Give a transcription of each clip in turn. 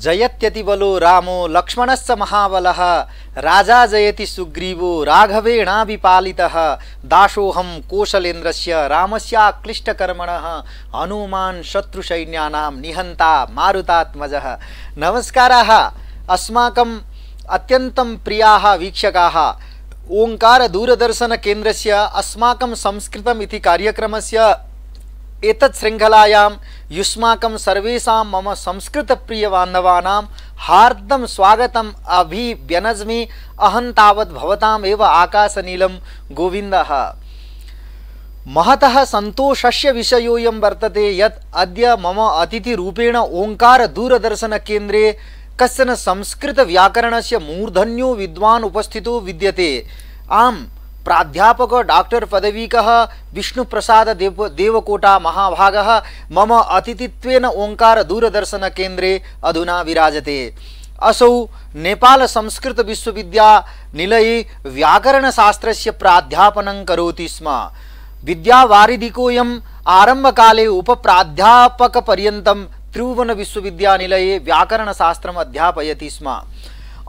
जयत्यति बलो रामो लक्ष्मणस्य महाबलः राजा जयति सुग्रीवो राघवेणाभिपालितः दासोऽहं कौशलेन्द्रस्य रामस्य क्लिष्टकर्मणः हनुमान् शत्रुसैन्यानां निहन्ता मारुतात्मजः। नमस्काराः अस्माकं अत्यन्तं प्रियाः वीक्षकाः, ओंकार दूरदर्शन केन्द्रस्य अस्माकं संस्कृतम् इति कार्यक्रमस्य एतत् श्रृंखलायां युष्माकं सर्वेषां मम संस्कृत प्रिय बान्धवानां हार्दं स्वागतम् अभिव्यनज्मि। अहं तावत् भवताम् एव आकाशनीलं गोविन्दः। महतः सन्तोषस्य विषयोऽयं वर्तते यत् अद्य मम अतिथिरूपेण ओंकार दूरदर्शन केन्द्रे कश्चन संस्कृत व्याकरणस्य मूर्धन्यो विद्वान् उपस्थितो विद्यते। आम्, प्राध्यापक डॉक्टर पदवीकः विष्णुप्रसाद देवकोटा महाभागः मम अतिथित्वेन ओंकार दूरदर्शन केन्द्रे अधुना विराजते। असौ नेपाल संस्कृत विश्वविद्यानिलये व्याकरणशास्त्रस्य प्राध्यापनं करोति स्म। विद्यावारिधिकोऽयम् आरम्भकाले उपप्राध्यापकपर्यन्तं त्रिभुवन विश्वविद्यानिलये व्याकरणशास्त्रम् अध्यापयति स्म।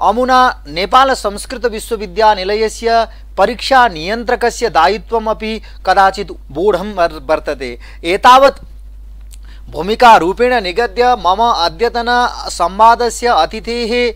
अमुना नेपाल संस्कृत विश्वविद्यानिलयस्य परीक्षा नियन्त्रकस्य दायित्वमपि कदाचित् बोढं वर्तते। एतावत् भूमिकारूपेण निगद्य मम अद्यतन संवादस्य अतिथेः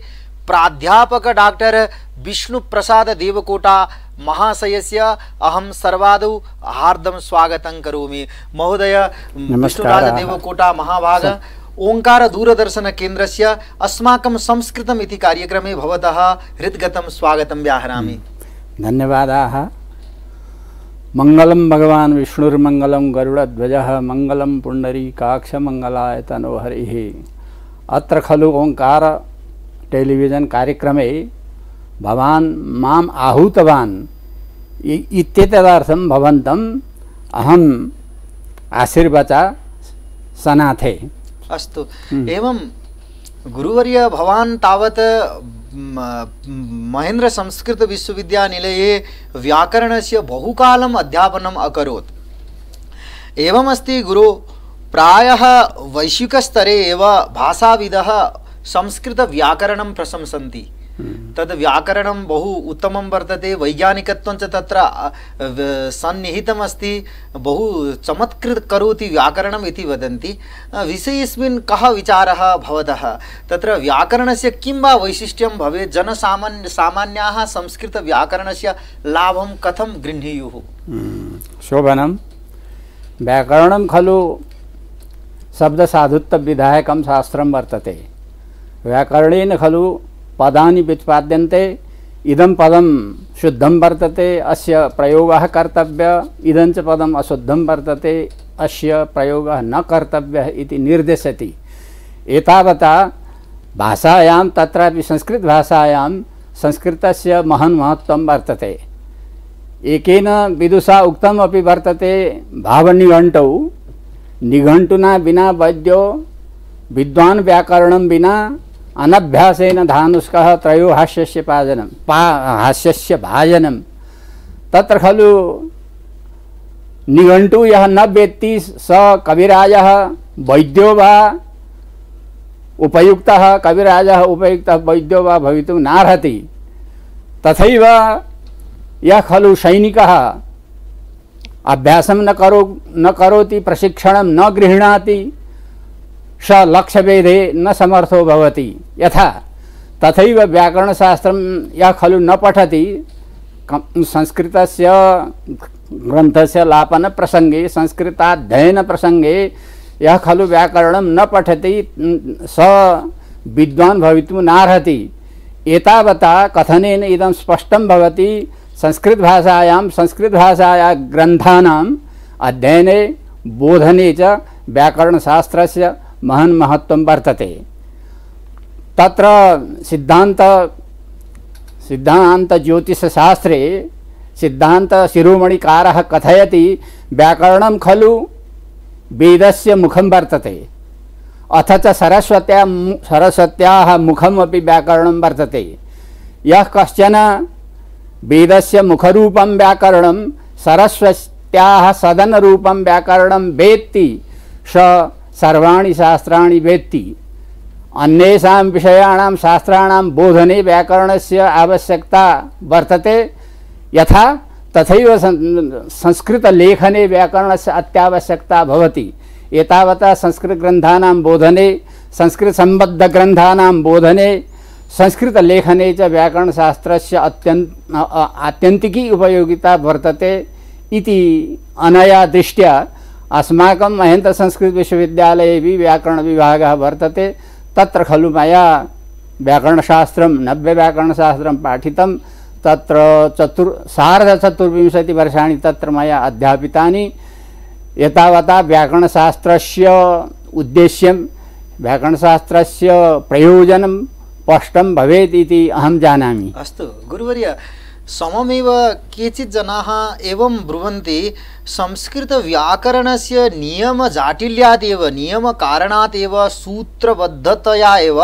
प्राध्यापक डॉक्टर विष्णुप्रसाद देवकोटा महाशयस्य अहं सर्वादौ हार्दं स्वागतं करोमि। महोदय विष्णुप्रसाद देवकोटा महाभाग ओंकार दूरदर्शन केन्द्रस्य अस्माकं संस्कृतम् इति कार्यक्रमे भवतः हृद्गतं स्वागतं व्याहरामि। धन्यवादाः। मंगलं भगवान् विष्णुर्मंगलं गरुडध्वजः मंगलं पुण्डरीकाक्षमंगलाय तनोहरिः। अत्र खलु ओंकार टेलिविजन कार्यक्रमे भवान् माम् आहूतवान् इत्येतदर्थं भवन्तम् अहम् आशीर्वचा सनाथे। अस्तु, एवं गुरुवर्य भवान् तावत् महेन्द्र संस्कृत विश्वविद्यानिलये व्याकरणस्य बहुकालम् अध्यापनम् अकरोत्। एवमस्ति गुरु, प्रायः वैश्विकस्तरे एव भाषाविदः संस्कृत व्याकरणं प्रशंसन्ति। तद् व्याकरणं बहु उत्तमं वर्तते, वैज्ञानिकत्वं च तत्र सन्निहितम् अस्ति, बहु चमत्कृत करोति व्याकरणम् इति वदन्ति। विषयेऽस्मिन् कः विचारः भवतः? तत्र व्याकरणस्य किं वा वैशिष्ट्यं भवेत्? सामान्याः संस्कृत व्याकरणस्य लाभं कथं गृह्णीयुः? शोभनं। व्याकरणं खलु शब्दसाधुत्वविधायकं शास्त्रं वर्तते। व्याकरणेन खलु पदानि व्युत्पाद्यन्ते। इदं पदं शुद्धं वर्तते, अस्य प्रयोगः कर्तव्यः, इदं च पदम् अशुद्धं वर्तते, अस्य प्रयोगः न कर्तव्यः इति निर्देशति। एतावता भाषायां, तत्रापि संस्कृतभाषायां संस्कृतस्य महन् महत्त्वं वर्तते। एकेन विदुषा उक्तम् अपि वर्तते, भावनिघण्टौ निघण्टुना विना वैद्यो विद्वान् व्याकरणं विना अनभ्यासेन धानुष्कः त्रयो हास्यस्य भाजनं। तत्र खलु निघण्टु यः न वेत्ति स कविराजः वैद्यो वा उपयुक्तः, कविराजः उपयुक्तः वैद्यो वा भवितुं नार्हति। तथैव यः खलु सैनिकः अभ्यासं न करोति, प्रशिक्षणं न गृह्णाति, स लक्ष्यभेदे न समर्थो भवति। यथा तथैव व्याकरणशास्त्रं यः खलु न पठति, संस्कृतस्य ग्रन्थस्य लापन प्रसंगे, संस्कृताध्ययन प्रसंगे यः खलु व्याकरणं न पठति स विद्वान् भवितुं नार्हति। एतावता कथनेन इदं स्पष्टं भवति, संस्कृतभाषायाः ग्रन्थानाम् अध्ययने बोधने च व्याकरणशास्त्रस्य महन् महत्त्वं वर्तते। तत्र सिद्धान्त ज्योतिषशास्त्रे सिद्धान्त शिरोमणिकारः कथयति, व्याकरणं खलु वेदस्य मुखं वर्तते, अथ च सरस्वत्याः मुखम् अपि व्याकरणं वर्तते। यः कश्चन वेदस्य मुखरूपं व्याकरणं सरस्वत्याः सदनरूपं व्याकरणं वेत्ति स सर्वाणि शास्त्राणि वेत्ति। अन्येषां विषयाणां शास्त्राणां बोधने व्याकरणस्य आवश्यकता वर्तते यथा तथैव संस्कृतलेखने व्याकरणस्य अत्यावश्यकता भवति। एतावता संस्कृतग्रन्थानां बोधने, संस्कृतसम्बद्धग्रन्थानां बोधने, संस्कृतलेखने च व्याकरणशास्त्रस्य आत्यन्तिकी उपयोगिता वर्तते इति अनया दृष्ट्या अस्माकं महेन्द्रसंस्कृतविश्वविद्यालये व्याकरणविभागः वर्तते। तत्र खलु मया व्याकरणशास्त्रं नव्यव्याकरणशास्त्रं पाठितं। तत्र सार्धचतुर्विंशतिवर्षाणि तत्र मया अध्यापितानि। एतावता व्याकरणशास्त्रस्य उद्देश्यं, व्याकरणशास्त्रस्य प्रयोजनं स्पष्टं भवेत् इति अहं जानामि। अस्तु गुरुवर्य, सममेव केचित् जनाः एवं ब्रुवन्ति संस्कृतव्याकरणस्य नियमजाटिल्यात् एव, नियमकारणात् एव, सूत्रबद्धतया एव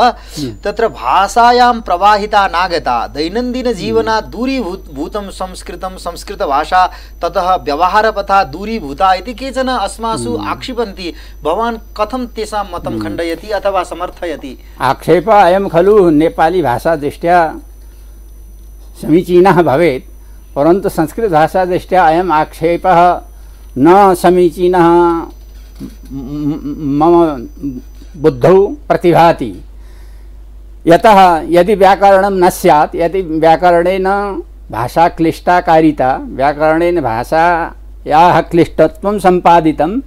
तत्र भाषायां प्रवाहिता नागता, दैनन्दिनजीवनात् दूरीभूतं संस्कृतं, संस्कृतभाषा ततः व्यवहारपथा दूरीभूता इति केचन अस्मासु आक्षिपन्ति। भवान् कथं तेषां मतं खण्डयति अथवा समर्थयति? आक्षेपः अयं खलु नेपाली भाषादृष्ट्या समीचीनः भवेत्, परन्तु संस्कृतभाषादृष्ट्या अयम् आक्षेपः न समीचीनः मम बुद्धौ प्रतिभाति। यतः यदि व्याकरणं न स्यात्, यदि व्याकरणेन भाषा क्लिष्टाकारिता, व्याकरणेन भाषायाः क्लिष्टत्वं सम्पादितम्,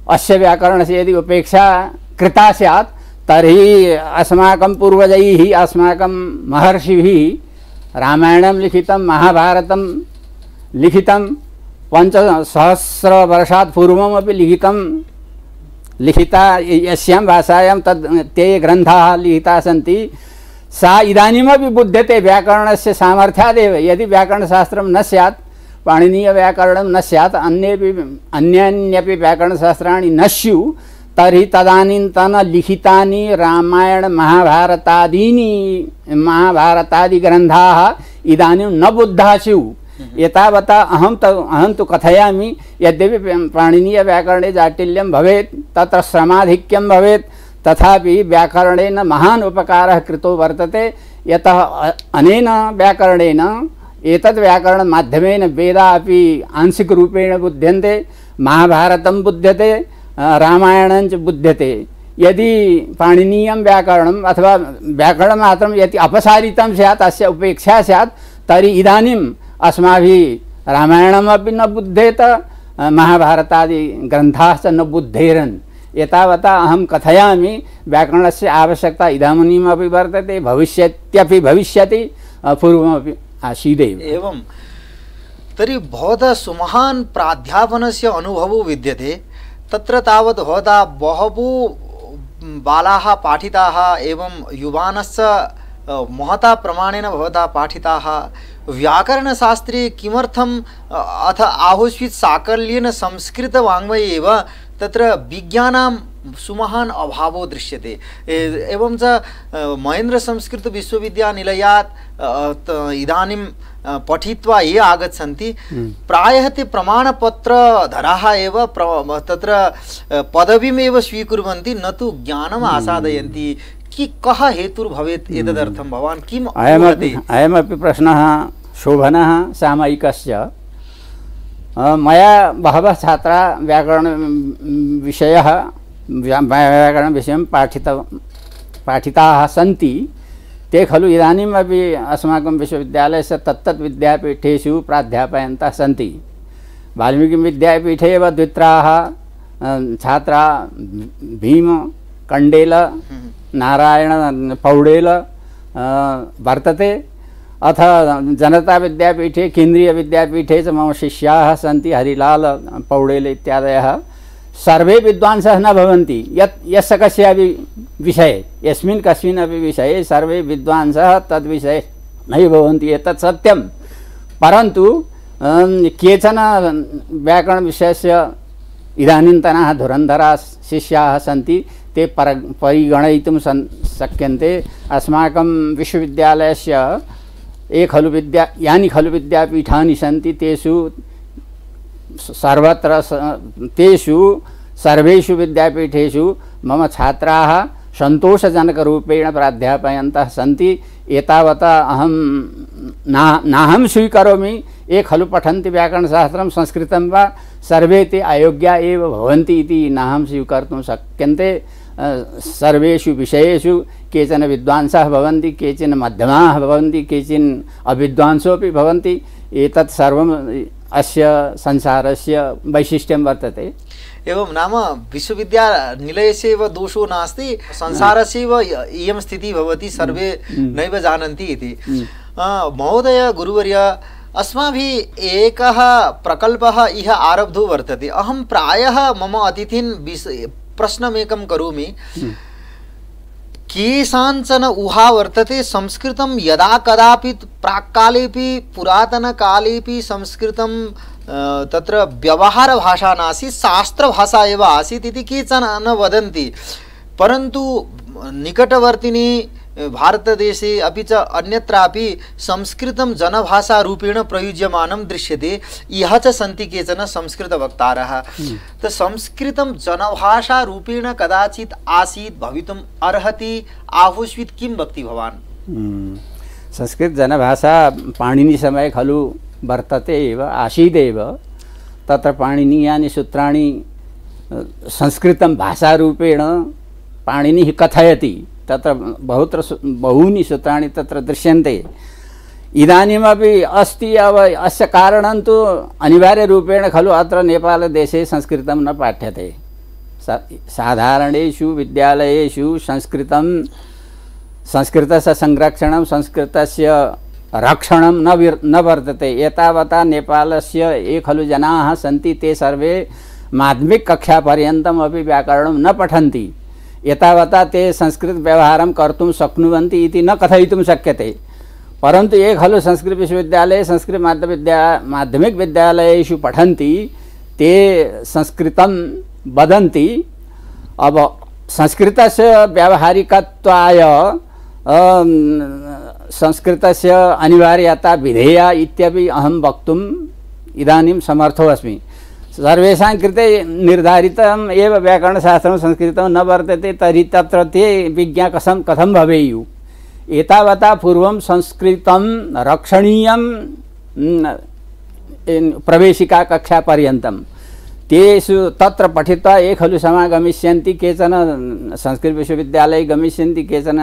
अस्य व्याकरणस्य यदि उपेक्षा कृता स्यात् तर्हि अस्माकं पूर्वजैः, अस्माकं महर्षिभिः रामायणं लिखितं, महाभारतं लिखितं, 5,000 वर्षात् पूर्वमपि लिखिता यस्यां भाषायां ते ग्रन्थाः लिखिताः सन्ति, सा इदानीमपि बुध्यते व्याकरणस्य सामर्थ्यादेव। यदि व्याकरणशास्त्रं न स्यात्, पाणिनीयव्याकरणं न स्यात्, अन्यान्यपि व्याकरणशास्त्राणि न स्युः, तर्हि तदानीन्तन लिखितानि रामायण महाभारतादि ग्रन्थाः इदानीं न बुद्धाः स्युः। एतावता अहं तु कथयामि, यद्यपि पाणिनीयव्याकरणे जाटिल्यं भवेत्, तत्र श्रमाधिक्यं भवेत्, तथापि व्याकरणेन महान् उपकारः कृतो वर्तते। यतः अनेन व्याकरणेन, एतद् व्याकरणमाध्यमेन वेदाः अपि आंशिकरूपेण बुध्यन्ते, महाभारतं बुध्यते, रामायणञ्च बुध्यते। यदि पाणिनीयं व्याकरणम् अथवा व्याकरणमात्रं यदि अपसारितं स्यात्, अस्य उपेक्षा स्यात्, तर्हि इदानीम् अस्माभिः रामायणमपि न बुध्येत, महाभारतादि ग्रन्थाश्च न बुद्धेरन्। एतावता अहं कथयामि, व्याकरणस्य आवश्यकता इदानीमपि वर्तते, भविष्यत्यपि भविष्यति, पूर्वमपि आसीदेव। एवं तर्हि भवतः सुमहान् प्राध्यापनस्य अनुभवो विद्यते। तत्र तावत् भवता बहवो बालाः पाठिताः, एवं युवानश्च महता प्रमाणेन भवता पाठिताः। व्याकरणशास्त्रे किमर्थम् अथ आहोस्वित् साकल्येन संस्कृतवाङ्मये एव तत्र विज्ञानां सुमहान् अभावो दृश्यते। एवं च महेन्द्रसंस्कृतविश्वविद्यानिलयात् इदानीं पठित्वा ये आगच्छन्ति, प्रायः ते प्रमाणपत्रधराः एव तत्र पदवीमेव स्वीकुर्वन्ति, न तु ज्ञानम् आसादयन्ति। कः हेतुर्भवेत् एतदर्थं भवान् किम् वदति? अयमपि प्रश्नः शोभनः सामयिकस्य। मया बहवः छात्राः व्याकरणविषयं पाठिताः सन्ति। ते खलु इदानीमपि अस्माकं विश्वविद्यालयस्य तत्तत् विद्यापीठेषु प्राध्यापयन्तः सन्ति। वाल्मीकिविद्यापीठे एव द्वित्राः छात्राः भीम कण्डेल नारायण पौडेल वर्तते। अथ जनता विद्यापीठे, केन्द्रीय विद्यापीठे च मम शिष्याः सन्ति, हरिलाल पौडेल इत्यादयः। सर्वे विद्वांसः न भवन्ति, यस्य कस्यापि विषये, यस्मिन् कस्मिन्नपि विषये सर्वे विद्वांसः तद्विषये नैव भवन्ति, एतत् सत्यं। परन्तु केचन व्याकरणविषयस्य इदानीन्तनाः धुरन्धराः शिष्याः सन्ति, ते परिगणयितुं शक्यन्ते। अस्माकं विश्वविद्यालयस्य यानि खलु विद्यापीठानि सन्ति, तेषु सर्वेषु विद्यापीठेषु मम छात्राः सन्तोषजनकरूपेण प्राध्यापयन्तः सन्ति एतावता अहं नाहं स्वीकरोमि ये खलु पठन्ति व्याकरणशास्त्रं संस्कृतं वा सर्वे ते अयोग्या एव भवन्ति इति नाहं स्वीकर्तुं शक्यन्ते। सर्वेषु विषयेषु केचन विद्वांसः भवन्ति, केचन मध्यमाः भवन्ति, केचन अविद्वांसोऽपि भवन्ति। एतत् सर्वम् अस्य संसारस्य वैशिष्ट्यं वर्तते। एवं नाम विश्वविद्यानिलयस्य एव दोषो नास्ति, संसारस्यैव इयं स्थितिः भवति, सर्वे नैव जानन्ति इति। महोदय गुरुवर्य, अस्माभिः एकः प्रकल्पः इह आरब्धो वर्तते। अहं प्रायः मम अतिथिन् प्रश्नमेकं करोमि। केषाञ्चन ऊहा वर्तते संस्कृतं यदा कदापि प्राक्कालेपि पुरातनकालेपि संस्कृतं तत्र व्यवहारभाषा नासीत्, शास्त्रभाषा एव आसीत् इति केचन न वदन्ति। परन्तु निकटवर्तिनि भारतदेशे अपि च अन्यत्रापि संस्कृतं जनभाषारूपेण प्रयुज्यमानं दृश्यते। इह च सन्ति केचन संस्कृतवक्तारः। संस्कृतं जनभाषारूपेण कदाचित् आसीत्, भवितुम् अर्हति, आहुष्वित् किं वक्ति भवान्? संस्कृत जनभाषा पाणिनिसमये खलु वर्तते एव, आसीदेव। तत्र पाणिनीयानि सूत्राणि संस्कृतं भाषारूपेण पाणिनिः कथयति। तत्र बहूनि सूत्राणि तत्र दृश्यन्ते। इदानीमपि अस्ति। अस्य कारणं तु अनिवार्यरूपेण खलु अत्र नेपालदेशे संस्कृतं न पाठ्यते। साधारणेषु विद्यालयेषु संस्कृतस्य संरक्षणं, संस्कृतस्य रक्षणं न वर्तते। एतावता नेपालस्य ये खलु जनाः सन्ति ते सर्वे माध्यमिककक्षापर्यन्तम् अपि व्याकरणं न पठन्ति। एतावता ते संस्कृत व्यवहारं कर्तुं शक्नुवन्ति इति न कथयितुं शक्यते। परन्तु ये खलु संस्कृत विश्वविद्यालये, संस्कृत माध्यमिक विद्यालयेषु पठन्ति ते संस्कृतं वदन्ति। अब संस्कृतस्य व्यावहारिकत्वाय संस्कृतस्य अनिवार्यता विधेया इत्यपि अहं वक्तुम् इदानीं समर्थो अस्मि। सर्वेषां कृते निर्धारितम् एव व्याकरणशास्त्रं संस्कृतं न वर्तते, तर्हि तत्र ते विज्ञा कथं भवेयुः? एतावता पूर्वं संस्कृतं रक्षणीयं प्रवेशिका कक्षापर्यन्तं। तेषु तत्र पठित्वा ये खलु समागमिष्यन्ति, केचन संस्कृत विश्वविद्यालये गमिष्यन्ति, केचन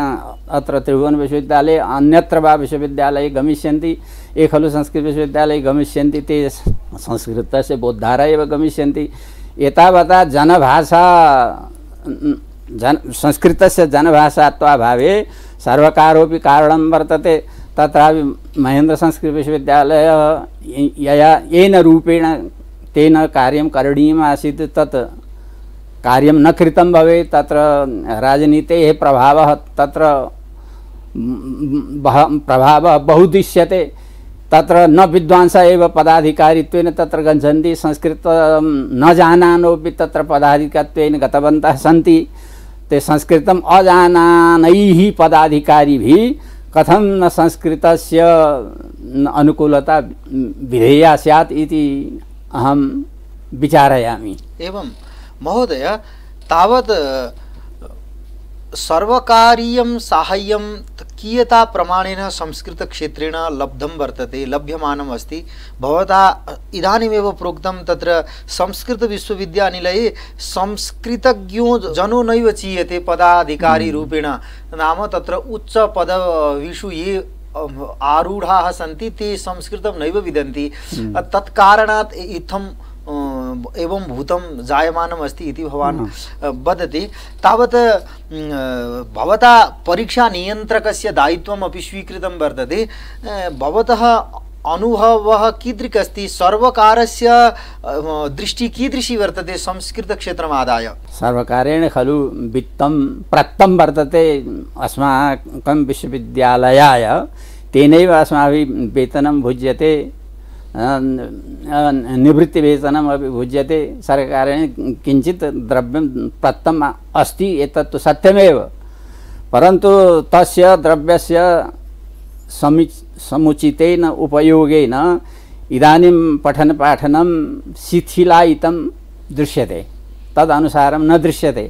अत्र त्रिभुवन विश्वविद्यालये अन्यत्र वा विश्वविद्यालये गमिष्यन्ति। ये खलु संस्कृत विश्वविद्यालये गमिष्यन्ति ते संस्कृतस्य बोद्धारः एव गमिष्यन्ति। एतावता संस्कृतस्य जनभाषात्वाभावे सर्वकारोऽपि कारणं वर्तते। तत्रापि महेन्द्र संस्कृत विश्वविद्यालयः येन रूपेण तेन कार्यं करणीयम् आसीत् तत् कार्यं न कृतं भवेत्। तत्र राजनीतेः प्रभावः तत्र प्रभावः बहु दृश्यते। तत्र न विद्वांसः एव पदाधिकारित्वेन तत्र गच्छन्ति, संस्कृतं न जानानोपि तत्र पदाधिकारित्वेन गतवन्तः सन्ति। ते संस्कृतम् अजानानैः पदाधिकारिभिः कथं न संस्कृतस्य अनुकूलता विधेया स्यात् इति अहं विचारयामि। एवं महोदय, तावत् सर्वकारीयं साहाय्यं कियता प्रमाणेन संस्कृतक्षेत्रेण लब्धं वर्तते, लभ्यमानम् अस्ति? भवता इदानीमेव प्रोक्तं तत्र संस्कृतविश्वविद्यानिलये संस्कृतज्ञो जनो नैव चीयते पदाधिकारी रूपेण। नाम तत्र उच्च पदवीषु ये आरूढाः सन्ति ते संस्कृतं नैव विदन्ति। तत्कारणात् इत्थं एवं भूतं जायमानम् अस्ति इति भवान् वदति। तावत् भवता परीक्षा नियन्त्रकस्य दायित्वम् अपि स्वीकृतं वर्तते। भवतः अनुभवः कीदृक् अस्ति? सर्वकारस्य दृष्टिः कीदृशी वर्तते संस्कृतक्षेत्रमादाय? सर्वकारेण खलु वित्तं प्रदत्तं वर्तते अस्माकं विश्वविद्यालयाय। तेनैव अस्माभिः वेतनं भुज्यते, निवृत्तिवेतनम् अपि भुज्यते। सर्वकारेण किञ्चित् द्रव्यं प्रदत्तम् अस्ति, एतत् तु सत्यमेव। परन्तु तस्य द्रव्यस्य समुचितेन उपयोगेन इदानीं पठनपाठनं शिथिलायितं दृश्यते, तदनुसारं न दृश्यते।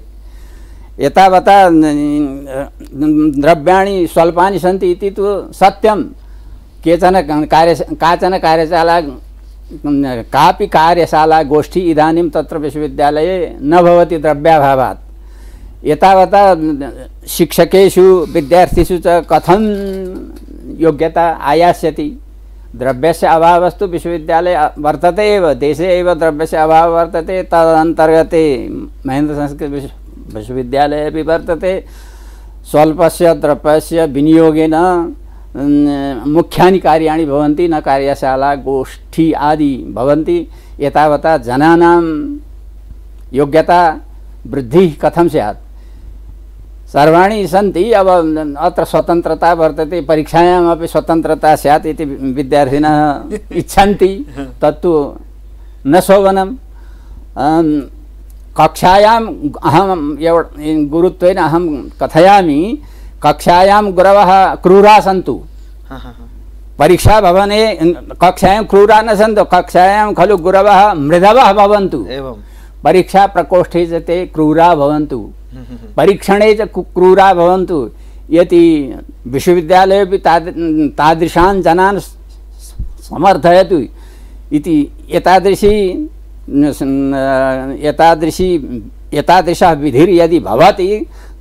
एतावता द्रव्याणि स्वल्पानि सन्ति इति तु सत्यं। काचन कार्यशाला कापि कार्यशाला गोष्ठी इदानीं तत्र विश्वविद्यालये न भवति द्रव्याभावात्। एतावता शिक्षकेषु विद्यार्थिषु च कथं योग्यता आयास्यति? द्रव्यस्य अभावस्तु विश्वविद्यालये वर्तते एव, देशे एव द्रव्यस्य अभावः वर्तते। तदन्तर्गते महेन्द्रसंस्कृत विश्वविद्यालये अपि वर्तते। स्वल्पस्य द्रव्यस्य विनियोगेन मुख्यानि कार्याणि भवन्ति, न कार्यशाला गोष्ठी आदि भवन्ति। एतावता जनानां योग्यता वृद्धिः कथं स्यात्? सर्वाणि सन्ति। अब अत्र स्वतन्त्रता वर्तते, परीक्षायामपि स्वतन्त्रता स्यात् इति विद्यार्थिनः इच्छन्ति। तत्तु न शोभनं। कक्षायाम् अहं गुरुत्वेन अहं कथयामि, कक्षायां गुरवः क्रूराः सन्तु। परीक्षा भवने कक्षायां क्रूराः न सन्तु, कक्षायां खलु गुरवः मृदवः भवन्तु। परीक्षा प्रकोष्ठे च ते क्रूराः भवन्तु, परीक्षणे च क्रूराः भवन्तु। यदि विश्वविद्यालयेपि तादृशान् जनान् समर्थयतु इति एतादृशः विधिर्यदि भवति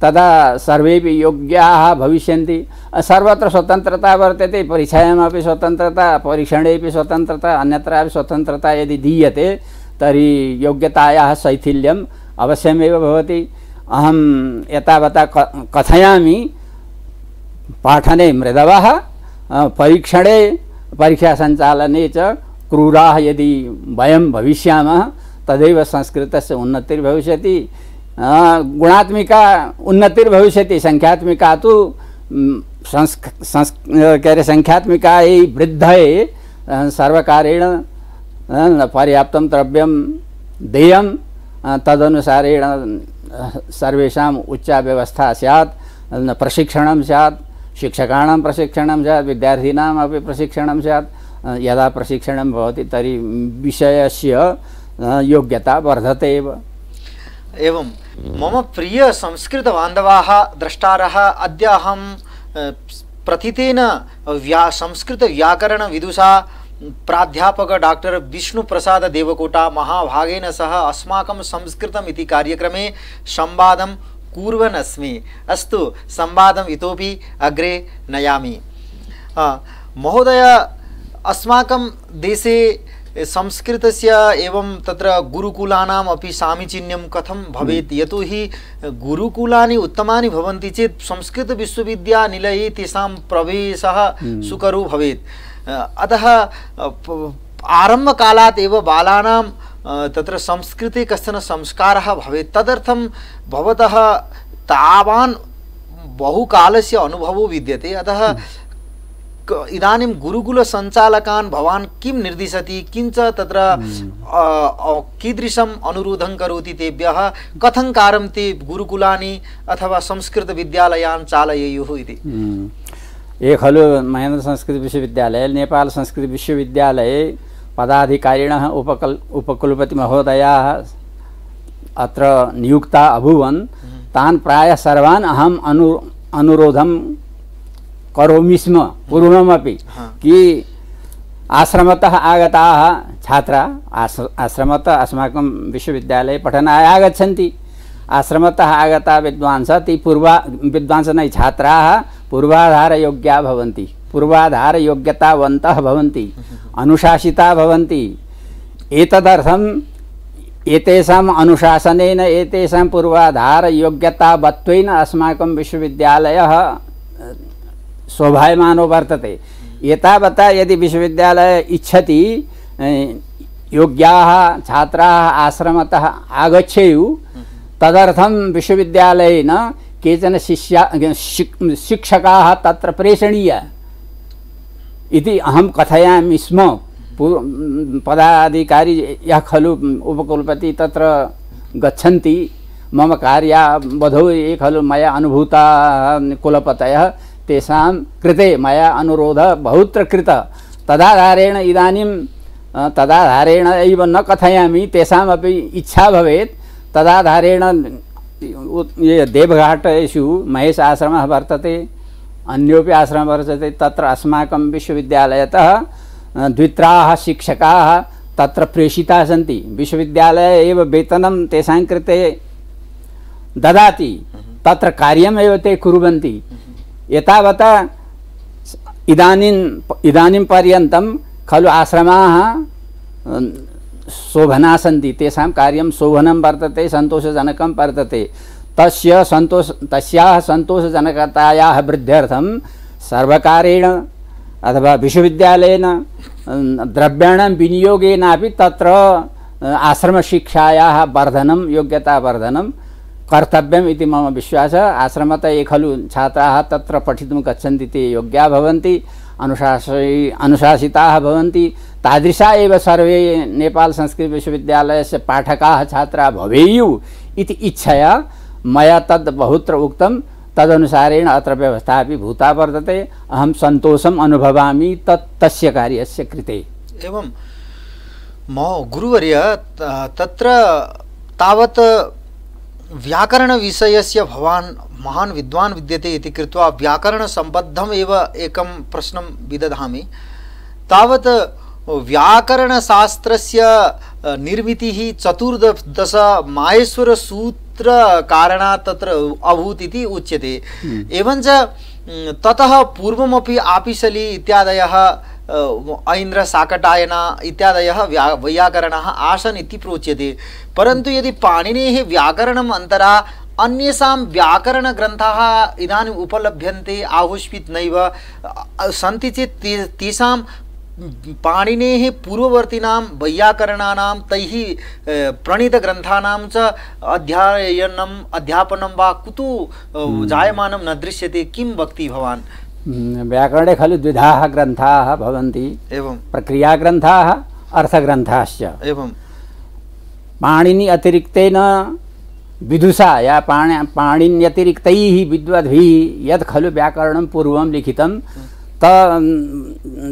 तदा सर्वेपि योग्याः भविष्यन्ति। सर्वत्र स्वतन्त्रता वर्तते, परीक्षायामपि स्वतन्त्रता, परीक्षणेपि स्वतन्त्रता, अन्यत्रापि स्वतन्त्रता यदि दीयते तर्हि योग्यतायाः शैथिल्यम् अवश्यमेव भवति। अहं एतावता कथयामि, पाठने मृदवः, परीक्षणे परीक्षासञ्चालने च क्रूराः यदि वयं भविष्यामः तदैव संस्कृतस्य उन्नतिर्भविष्यति। गुणात्मिका उन्नतिर्भविष्यति। संख्यात्मिका तु संख्यात्मिकायै वृद्धये सर्वकारेण पर्याप्तं द्रव्यं देयं, तदनुसारेण सर्वेषाम् उच्चा व्यवस्था स्यात्, प्रशिक्षणं स्यात्, शिक्षकाणां प्रशिक्षणं स्यात्, विद्यार्थिनामपि प्रशिक्षणं स्यात्। यदा प्रशिक्षणं भवति तर्हि विषयस्य योग्यता वर्धते एव। एवं मम प्रिय संस्कृतबान्धवाः द्रष्टारः, अद्य अहं प्रथितेन संस्कृतव्याकरणविदुषा प्राध्यापक डॉक्टर विष्णुप्रसाद देवकोटा महाभागेन सह अस्माकं संस्कृतम् इति कार्यक्रमे संवादं कुर्वन् अस्मि। अस्तु, संवादम् इतोपि अग्रे नयामि। महोदय, अस्माकं देशे संस्कृतस्य एवं तत्र गुरुकुलानाम् अपि सामीचीन्यं कथं भवेत्? यतोहि गुरुकुलानि उत्तमानि भवन्ति चेत् संस्कृतविश्वविद्यानिलये तेषां प्रवेशः सुकरो भवेत्। अतः आरम्भकालात् एव बालानां तत्र संस्कृते कश्चन संस्कारः भवेत्। तदर्थं भवतः तावान् बहुकालस्य अनुभवो विद्यते। अतः इदानीं गुरुकुलसञ्चालकान् भवान् किं निर्दिशति? किञ्च तत्र कीदृशम् अनुरोधं करोति तेभ्यः? कथं कार्यं ते गुरुकुलानि अथवा संस्कृतविद्यालयान् चालयेयुः इति? ये खलु महेन्द्र संस्कृत विश्वविद्यालय, नेपाल संस्कृत विश्वविद्यालये पदाधिकारिणः उपकुलपति महोदयाः अत्र नियुक्ता अभूवन्। तान् प्रायः सर्वान् अहम् अनुरोधं करोमि स्म पूर्वमपि कि आश्रमतः आगताः छात्राः, आश्रमतः अस्माकं विश्वविद्यालये पठनाय आगच्छन्ति। आश्रमतः आगता विद्वांसः, ते विद्वांसः न छात्राः पूर्वाधारयोग्याः भवन्ति, पूर्वाधारयोग्यतावन्तः भवन्ति, अनुशासिताः भवन्ति। एतदर्थम् एतेषाम् अनुशासनेन, एतेषां पूर्वाधारयोग्यतावत्वेन अस्माकं विश्वविद्यालयः शोभायमानो वर्तते। एतावता यदि विश्वविद्यालयः इच्छति योग्याः छात्राः आश्रमतः आगच्छेयुः, तदर्थं विश्वविद्यालयेन केचन शिक्षकाः तत्र प्रेषणीयाः इति अहं कथयामि स्म। पदाधिकारी यः खलु उपकुलपति तत्र गच्छन्ति, मम कार्यावधौ ये खलु मया अनुभूता कुलपतयः, तेषां कृते मया अनुरोधः बहुत्र कृतः। तदाधारेण इदानीं तदाधारेण एव न कथयामि, तेषामपि इच्छा भवेत्। तदाधारेण ये देवघाटेषु महेश आश्रमः वर्तते, अन्योपि आश्रमः वर्तते। तत्र अस्माकं विश्वविद्यालयतः द्वित्राः शिक्षकाः तत्र प्रेषिताः सन्ति। विश्वविद्यालये एव वेतनं तेषां कृते ददाति, तत्र कार्यमेव ते कुर्वन्ति। एतावता इदानीं पर्यन्तं खलु आश्रमाः शोभना सन्ति, तेषां कार्यं शोभनं वर्तते, सन्तोषजनकं वर्तते। तस्याः सन्तोषजनकतायाः वृद्ध्यर्थं सर्वकारेण अथवा विश्वविद्यालयेन द्रव्याणां विनियोगेनापि तत्र आश्रमशिक्षायाः वर्धनं, योग्यतावर्धनं कर्तव्यम् इति मम विश्वासः। आश्रमतः ये खलु छात्राः तत्र पठितुं गच्छन्ति ते योग्याः भवन्ति, अनुशासिताः भवन्ति। तादृशा एव सर्वे नेपाल संस्कृत विश्वविद्यालयस्य पाठकाः छात्राः भवेयुः इति इच्छया मया तद् बहुत्र उक्तं। तदनुसारेण अत्र व्यवस्था अपि भूता वर्तते। अहं सन्तोषम् अनुभवामि तस्य कार्यस्य कृते। एवं गुरुवर्य तत्र तावत् व्याकरणविषयस्य भवान् महान् विद्वान् विद्यते इति कृत्वा व्याकरणसम्बद्धम् एव एकं प्रश्नं विदधामि। तावत् व्याकरणशास्त्रस्य निर्मितिः 14 माहेश्वरसूत्रकारणात् तत्र अभूत् इति उच्यते। एवञ्च ततः पूर्वमपि आपिशली इत्यादयः ऐन्द्र साकटायना इत्यादयः वैयाकरणाः आसन् इति प्रोच्यते। परन्तु यदि पाणिनेः व्याकरणम् अन्तरा अन्येषां व्याकरणग्रन्थाः इदानीम् उपलभ्यन्ते, आहुष्पित् नैव सन्ति चेत् तेषां पाणिनेः पूर्ववर्तीनां वैयाकरणानां तैः प्रणीतग्रन्थानां च अध्यापनं वा कुतो जायमानं न दृश्यते। किं वक्ति भवान्? व्याकरणे खलु द्विधाः ग्रन्थाः भवन्ति, एवं प्रक्रियाग्रन्थाः, अर्थग्रन्थाश्च। एवं पाणिनि अतिरिक्तेन विदुषा या पाणिन्यतिरिक्तैः विद्वद्भिः यत् खलु व्याकरणं पूर्वं लिखितं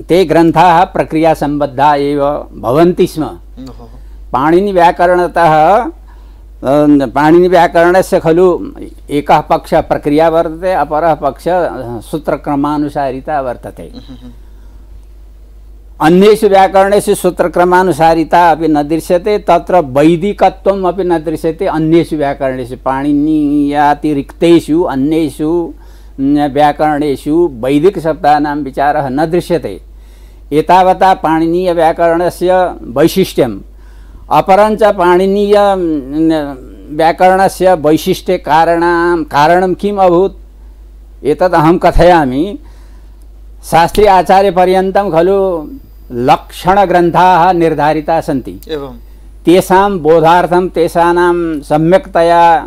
ते ग्रन्थाः प्रक्रियासम्बद्धाः एव भवन्ति स्म। पाणिनिव्याकरणस्य खलु एकः पक्षः प्रक्रिया वर्तते, अपरः पक्षः सूत्रक्रमानुसारिता वर्तते। अन्येषु व्याकरणेषु सूत्रक्रमानुसारिता अपि न दृश्यते, तत्र वैदिकत्वम् अपि न दृश्यते। अन्येषु व्याकरणेषु पाणिनीयातिरिक्तेषु अन्येषु व्याकरणेषु वैदिकशब्दानां विचारः न दृश्यते। एतावता पाणिनीयव्याकरणस्य वैशिष्ट्यम्। अपरञ्च पाणिनीय व्याकरणस्य वैशिष्ट्ये कारणं किम् अभूत् एतद् अहं कथयामि। शास्त्रीय आचार्यपर्यन्तं खलु लक्षणग्रन्थाः निर्धारिताः सन्ति। एवं तेषां बोधार्थं तेषां सम्यक्तया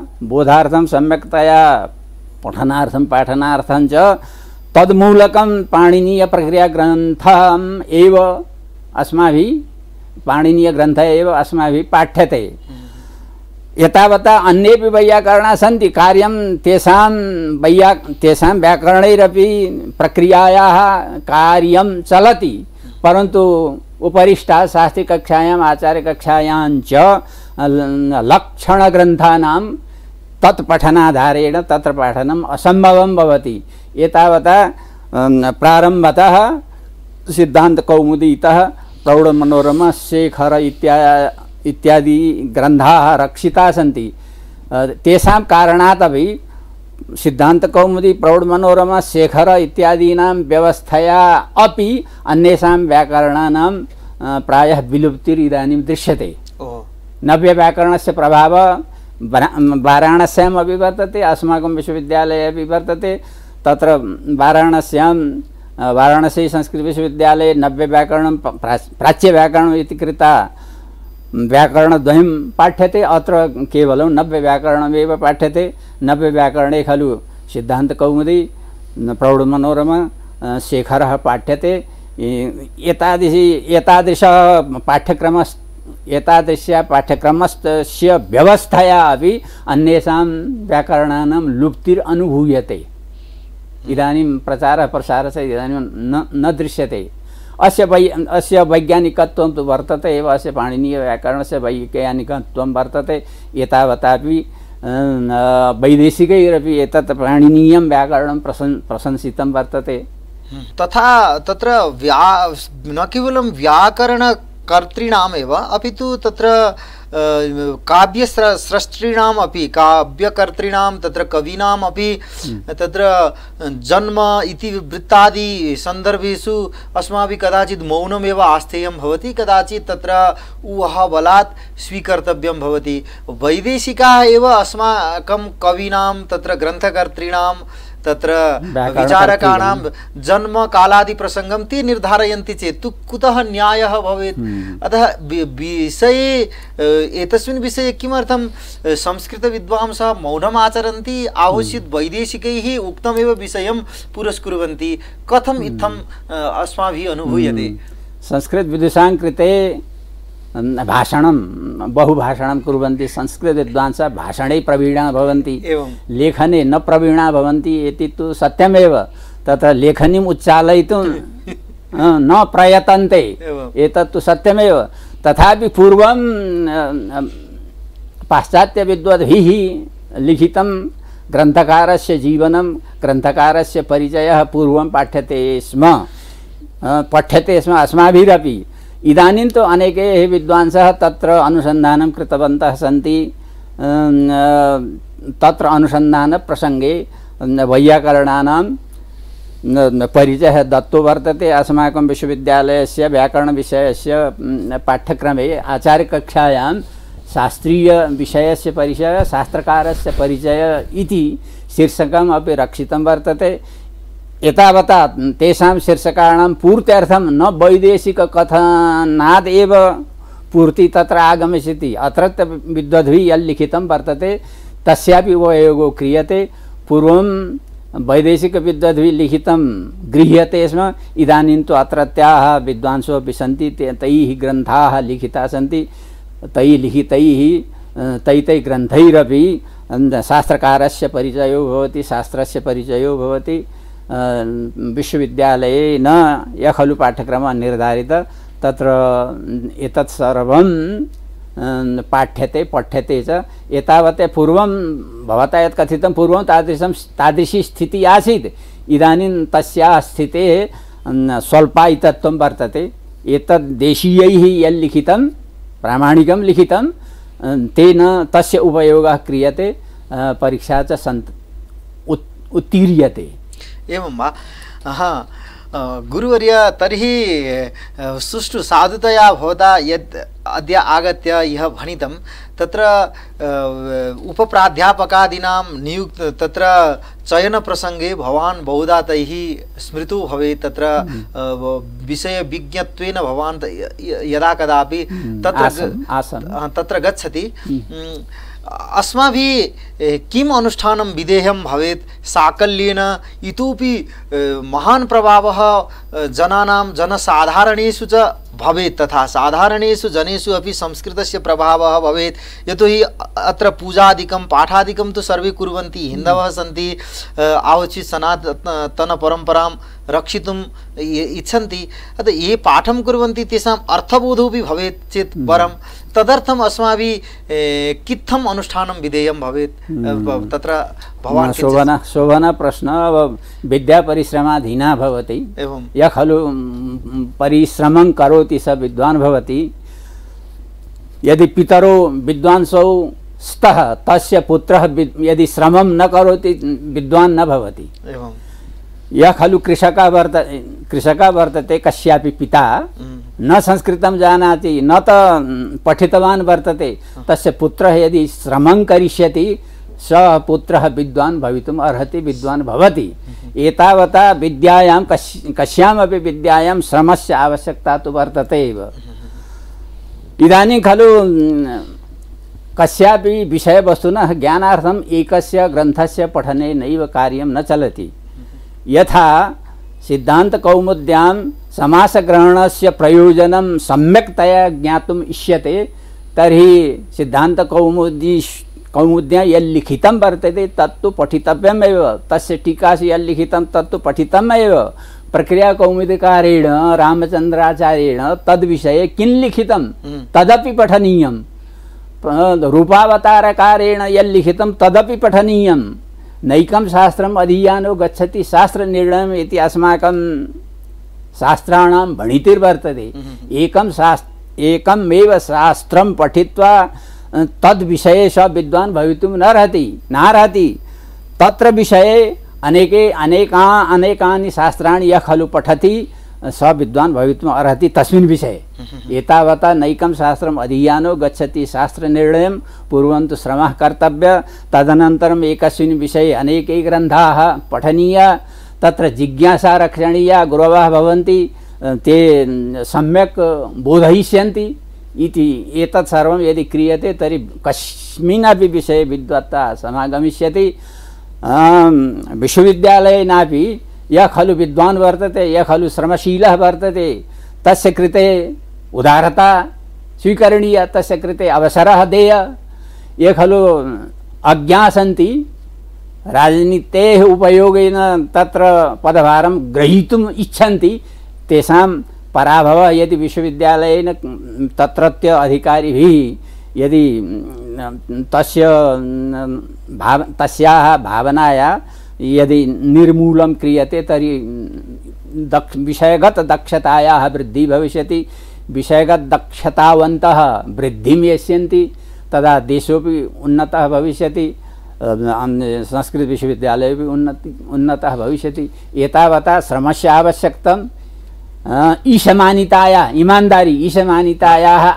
पठनार्थं पाठनार्थं च तन्मूलकं पाणिनीयप्रक्रियाग्रन्थम् एव अस्माभिः पाठ्यते। एतावता अन्येपि वैयाकरणाः सन्ति, कार्यं तेषां व्याकरणैरपि प्रक्रियायाः कार्यं चलति। परन्तु उपरिष्टात् शास्त्रीकक्षायाम् आचार्यकक्षायां च लक्षणग्रन्थानां तत्पठनाधारेण तत्र पाठनम् असम्भवं भवति। एतावता प्रारम्भतः सिद्धान्तकौमुदीतः प्रौढमनोरमा, शेखर इत्यादि ग्रन्थाः रक्षिताः सन्ति। तेषां कारणात् अपि सिद्धान्तकौमुदी, प्रौढमनोरमा, शेखर इत्यादीनां व्यवस्थया अपि अन्येषां व्याकरणानां प्रायः विलुप्तिर् इदानीं दृश्यते। नव्यव्याकरणस्य प्रभावः वाराणस्याम् अपि वर्तते, अस्माकं विश्वविद्यालये अपि वर्तते। तत्र वाराणसी संस्कृतविश्वविद्यालये नव्यव्याकरणं प्राच्यव्याकरणम् इति कृता व्याकरणद्वयं पाठ्यते। अत्र केवलं नव्यव्याकरणमेव पाठ्यते। नव्यव्याकरणे खलु सिद्धान्तकौमुदी, प्रौढमनोरमा, शेखरः पाठ्यते। एतादृश पाठ्यक्रमस्य व्यवस्थया अपि अन्येषां व्याकरणानां लुप्तिर् अनुभूयते। इदानीं प्रचारः प्रसारः इदानीं न दृश्यते। अस्य वैज्ञानिकत्वं तु वर्तते एव, अस्य पाणिनीयव्याकरणस्य वैज्ञानिकत्वं वर्तते। एतावतापि वैदेशिकैरपि एतत् पाणिनीयं व्याकरणं प्रशंसितं वर्तते। तथा तत्र न केवलं व्याकरणकर्तॄणामेव अपि तु तत्र काव्यस्रष्टॄणाम् अपि काव्यकर्तॄणां तत्र कवीनाम् अपि तत्र जन्म इतिवृत्तादि सन्दर्भेषु अस्माभिः कदाचित् मौनमेव आस्थेयं भवति, कदाचित् तत्र ऊहाबलात् स्वीकर्तव्यं भवति। वैदेशिकाः एव अस्माकं कवीनां तत्र ग्रन्थकर्तॄणां तत्र विचारकाणां जन्म कालादि प्रसंगं ते निर्धारयन्ति चेत् तु कुतः न्यायः भवेत्। अतः विषये एतस्मिन् विषये किमर्थं संस्कृतविद्वांसः मौनम् आचरन्ति, आहोस्यत् वैदेशिकैः उक्तमेव विषयं पुरस्कुर्वन्ति, कथम् इत्थम् अस्माभिः अनुभूयते। संस्कृतविदुषां कृते भाषणं बहुभाषणं कुर्वन्ति, संस्कृतविद्वांसः भाषणे प्रवीणाः भवन्ति, लेखने न प्रवीणाः भवन्ति इति तु सत्यमेव। तत्र लेखनीम् उच्चालयितुं न प्रयतन्ते, एतत् तु सत्यमेव। तथापि पूर्वं पाश्चात्यविद्वद्भिः लिखितं ग्रन्थकारस्य जीवनं, ग्रन्थकारस्य परिचयः पूर्वं पठ्यते स्म अस्माभिरपि। इदानीं तु अनेके विद्वांसः तत्र अनुसन्धानं कृतवन्तः सन्ति। तत्र अनुसन्धानप्रसङ्गे वैयाकरणानां परिचयः दत्तो वर्तते। अस्माकं विश्वविद्यालयस्य व्याकरणविषयस्य पाठ्यक्रमे आचार्यकक्षायां शास्त्रीयविषयस्य परिचयः, शास्त्रकारस्य परिचयः इति शीर्षकम् अपि रक्षितं वर्तते। एतावता तेषां शीर्षकाणां पूर्त्यर्थं न वैदेशिककथनाद् एव पूर्ति तत्र आगमिष्यति। अत्रत्य विद्वद्भिः यल्लिखितं वर्तते तस्यापि उपयोगो क्रियते। पूर्वं वैदेशिकविद्वद्भिः लिखितं गृह्यते स्म, इदानीं तु अत्रत्याः विद्वांसो अपि सन्ति, तैः ग्रन्थाः लिखिताः सन्ति। तैः लिखितैः तैः ग्रन्थैरपि शास्त्रकारस्य परिचयो भवति, शास्त्रस्य परिचयो भवति। विश्वविद्यालये न यः खलु पाठ्यक्रमः निर्धारितः तत्र एतत् सर्वं पाठ्यते पठ्यते च। एतावत् पूर्वं भवता यत् कथितं पूर्वं तादृशी स्थितिः आसीत्, इदानीं तस्याः स्थितेः स्वल्पायितत्वं वर्तते। एतद् देशीयैः यल्लिखितं प्रामाणिकं लिखितं तेन तस्य उपयोगः क्रियते, परीक्षा च उत्तीर्यते। एवं वा? गुरुवर्य, तर्हि सुष्ठु साधुतया भवता यद् अद्य आगत्य यः भणितं तत्र उपप्राध्यापकादीनां तत्र चयनप्रसङ्गे भवान् बहुधा तैः स्मृतो भवेत्। तत्र विषयविज्ञत्वेन भवान् यदा कदापि तत्र गच्छति। अस्माभिः किम् अनुष्ठानं विधेयं भवेत् साकल्येन, इतोपि महान् प्रभावः जनसाधारणेषु च भवेत्, तथा साधारणेषु जनेषु अपि संस्कृतस्य प्रभावः भवेत्। यतोहि अत्र पूजादिकं पाठादिकं तु सर्वे कुर्वन्ति, हिन्दवः सन्ति, आवश्यक सनातनपरम्परां रक्षितुम् इच्छन्ति। अतः ये पाठं कुर्वन्ति तेषाम् अर्थबोधोऽपि भवेत् चेत् वरं। तदर्थम् अस्माभिः कित्थम् अनुष्ठानं विधेयं भवेत् तत्र भवान्? शोभनः प्रश्नः। विद्यापरिश्रमाधीना भवति। यः खलु परिश्रमं करोति स विद्वान् भवति। यदि पितरो विद्वांसौ स्तः तस्य पुत्रः यदि श्रमं न करोति विद्वान् न भवति। यः खलु कृषकः वर्तते, कस्यापि पिता न संस्कृतं जानाति, न त पठितवान् वर्तते, तस्य पुत्रः यदि श्रमं करिष्यति सः पुत्रः विद्वान् भवितुम् अर्हति, विद्वान् भवति। एतावता विद्यायां कस्यामपि विद्यायां श्रमस्य आवश्यकता तु वर्तते एव। इदानीं खलु कस्यापि विषयवस्तुनः ज्ञानार्थम् एकस्य ग्रन्थस्य पठने नैव कार्यं न चलति। यथा सिद्धान्तकौमुद्यां समासग्रहणस्य प्रयोजनं सम्यक्तया ज्ञातुम् इष्यते, तर्हि सिद्धान्तकौमुद्यां यल्लिखितं वर्तते तत्तु पठितव्यमेव। तस्य टीकासु यल्लिखितं तत्तु पठितमेव। प्रक्रियाकौमुदीकारेण रामचन्द्राचार्येण तद्विषये किं लिखितं तदपि पठनीयं। रूपावतारकारेण यल्लिखितं तदपि पठनीयं नैकं शास्त्रम् अधीयानो गच्छति शास्त्रनिर्णयम् इति अस्माकं शास्त्राणां भणितिर्वर्तते। एकमेव शास्त्रं पठित्वा तद्विषये स विद्वान् भवितुं नार्हति। तत्र विषये अनेकानि शास्त्राणि यः खलु पठति स विद्वान् भवितुम् अर्हति तस्मिन् विषये। एतावता नैकं शास्त्रम् अधीयानो गच्छति शास्त्रनिर्णयं पूर्वं तु श्रमः कर्तव्यः, तदनन्तरम् एकस्मिन् विषये अनेके ग्रन्थाः पठनीया, तत्र जिज्ञासा रक्षणीया, गुरवः भवन्ति ते सम्यक् बोधयिष्यन्ति इति। एतत् सर्वं यदि क्रियते तर्हि कस्मिन्नपि विषये विद्वत्ता समागमिष्यति। विश्वविद्यालयेनापि यः खलु विद्वान् वर्तते, यः खलु श्रमशीलः वर्तते, तस्य कृते उदारता स्वीकरणीया, तस्य कृते अवसरः देयः। ये खलु अज्ञा सन्ति राजनीतेः उपयोगेन तत्र पदभारं ग्रहीतुम् इच्छन्ति, तेषां पराभवः यदि विश्वविद्यालयेन तत्रत्य अधिकारिभिः यदि तस्याः भावनाया यदि निर्मूलं क्रियते तर्हि विषयगत दक्षतायाः वृद्धिः भविष्यति। विषयगत दक्षतावन्तः वृद्धिं यस्यन्ति तदा देशोऽपि उन्नतः भविष्यति, संस्कृत विश्वविद्यालयोऽपि उन्नतः भविष्यति। एतावता श्रमस्य आवश्यकता, ईशमानितायाः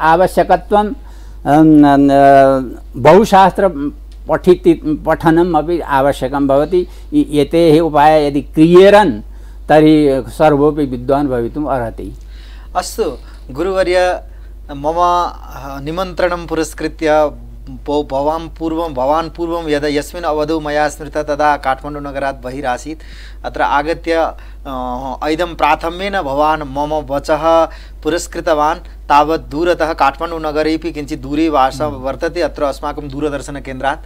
आवश्यकत्वं, बहुशास्त्र पठनम् अपि आवश्यकं भवति। एते उपायाः यदि क्रियेरन् तर्हि सर्वोऽपि विद्वान् भवितुम् अर्हति। अस्तु गुरुवर्य, मम निमन्त्रणं पुरस्कृत्य भवान् पूर्वं यदा यस्मिन् अवधौ मया स्मृतः तदा काठमाण्डुनगरात् बहिरासीत्। अत्र आगत्य ऐदं प्राथम्येन भवान् मम वचः पुरस्कृतवान्। तावत् दूरतः काठमाण्डुनगरेपि किञ्चित् दूरे वासः वर्तते अत्र अस्माकं दूरदर्शनकेन्द्रात्।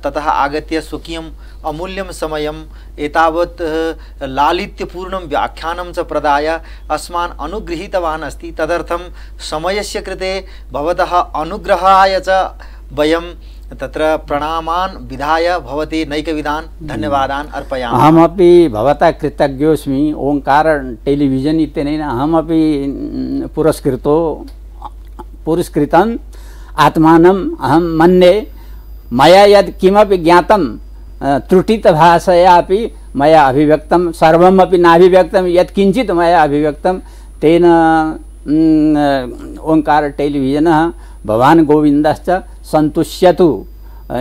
ततः आगत्य स्वकीयम् अमूल्यं समयम् एतावत् लालित्यपूर्णं व्याख्यानं च प्रदाय अस्मान् अनुगृहीतवान् अस्ति। तदर्थं समयस्य कृते भवतः अनुग्रहाय च वयं तत्र प्रणामान् विधाय भवते नैकविधान् धन्यवादान् अर्पयामि। अहमपि भवता कृतज्ञोऽस्मि। ओङ्कार टेलिविजन् इत्यनेन अहमपि पुरस्कृतम् आत्मानम् अहं मन्ये। मया यत् किमपि ज्ञातं त्रुटितभाषयापि मया अभिव्यक्तं, सर्वमपि नाभिव्यक्तं, यत् किञ्चित् मया अभिव्यक्तं तेन ओङ्कार टेलिविजनः भवान् गोविन्दश्च सन्तुष्यतु।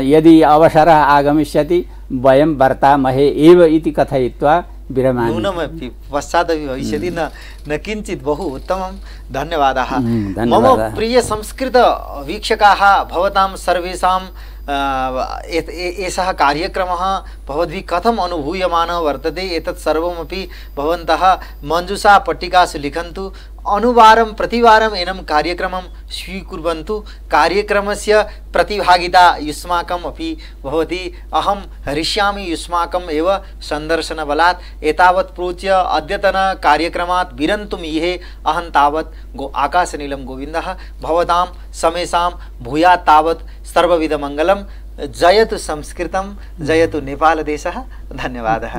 यदि अवसरः आगमिष्यति वयं वर्तामहे एव इति कथयित्वा विरमामि। नूनमपि पश्चादपि भविष्यति न किञ्चित्। बहु उत्तमं, धन्यवादाः। मम प्रिय संस्कृत वीक्षकाः, भवतां सर्वेषां एषः कार्यक्रमः भवद्भिः कथम् अनुभूयमानः वर्तते एतत् सर्वमपि भवन्तः मञ्जुषा पट्टिकासु लिखन्तु। अनुवारं प्रतिवारम् एनं कार्यक्रमं स्वीकुर्वन्तु। कार्यक्रमस्य प्रतिभागिता युष्माकम् अपि भवति। अहं हरिष्यामि युष्माकम् एव सन्दर्शनबलात्। एतावत् प्रोच्य अद्यतन कार्यक्रमात् विरन्तुम् इहे अहं तावत् आकाशनीलं गोविन्दः। भवतां समेषां भूयात् तावत् सर्वविधमङ्गलं। जयतु संस्कृतं, जयतु नेपालदेशः। धन्यवादः।